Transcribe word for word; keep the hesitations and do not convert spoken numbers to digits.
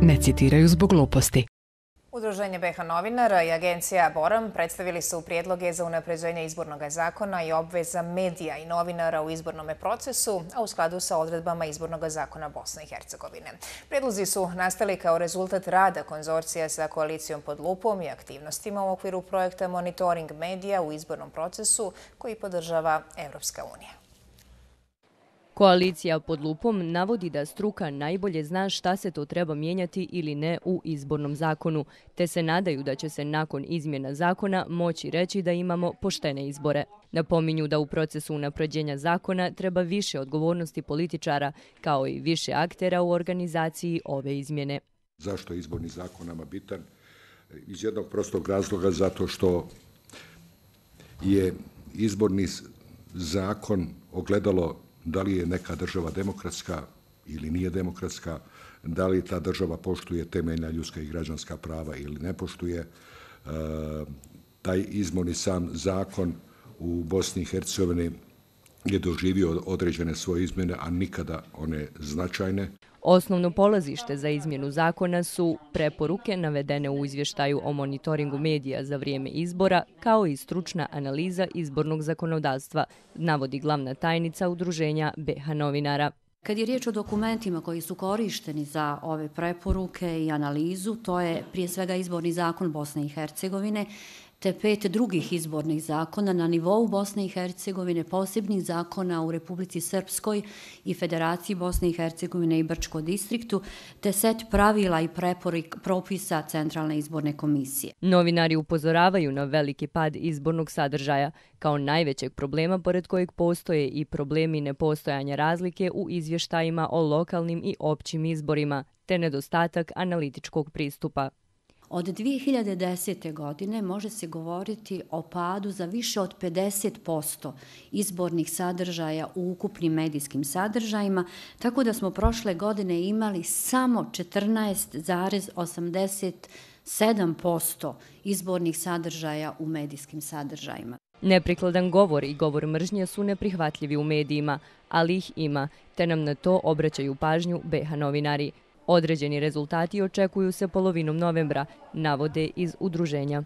ne citiraju zbog gluposti. Udruženje B H novinara i agencija Boram predstavili su prijedloge za unapređenje izbornog zakona i obveza medija i novinara u izbornom procesu, a u skladu sa odredbama izbornog zakona Bosne i Hercegovine. Prijedlozi su nastali kao rezultat rada konzorcija sa koalicijom Pod lupom i aktivnostima u okviru projekta Monitoring medija u izbornom procesu koji podržava Evropska unija. Koalicija Pod lupom navodi da struka najbolje zna šta se to treba mijenjati ili ne u izbornom zakonu, te se nadaju da će se nakon izmjena zakona moći reći da imamo poštene izbore. Napominju da u procesu unapređenja zakona treba više odgovornosti političara, kao i više aktera u organizaciji ove izmjene. Zašto je izborni zakon nama bitan? Iz jednog prostog razloga, zato što je izborni zakon ogledalo da li je neka država demokratska ili nije demokratska, da li ta država poštuje temeljna ljudska i građanska prava ili ne poštuje. E, taj izborni sam zakon u Bosni i Hercegovini je doživio određene svoje izmjene, a nikada one značajne. Osnovno polazište za izmjenu zakona su preporuke navedene u izvještaju o monitoringu medija za vrijeme izbora, kao i stručna analiza izbornog zakonodavstva, navodi glavna tajnica Udruženja B H novinara. Kad je riječ o dokumentima koji su korišteni za ove preporuke i analizu, to je prije svega izborni zakon Bosne i Hercegovine, te pet drugih izbornih zakona na nivou Bosne i Hercegovine, posebnih zakona u Republici Srpskoj i Federaciji Bosne i Hercegovine i Brčko distriktu, te set pravila i preporuka propisa Centralne izborne komisije. Novinari upozoravaju na veliki pad izbornog sadržaja kao najvećeg problema pored kojeg postoje i problemi nepostojanja razlike u izvještajima o lokalnim i općim izborima, te nedostatak analitičkog pristupa. Od dvije hiljade desete. godine može se govoriti o padu za više od pedeset posto izbornih sadržaja u ukupnim medijskim sadržajima, tako da smo prošle godine imali samo četrnaest zarez osamdeset sedam posto izbornih sadržaja u medijskim sadržajima. Neprikladan govor i govor mržnje su neprihvatljivi u medijima, ali ih ima, te nam na to obraćaju pažnju B H novinari. Određeni rezultati očekuju se polovinom novembra, navode iz udruženja.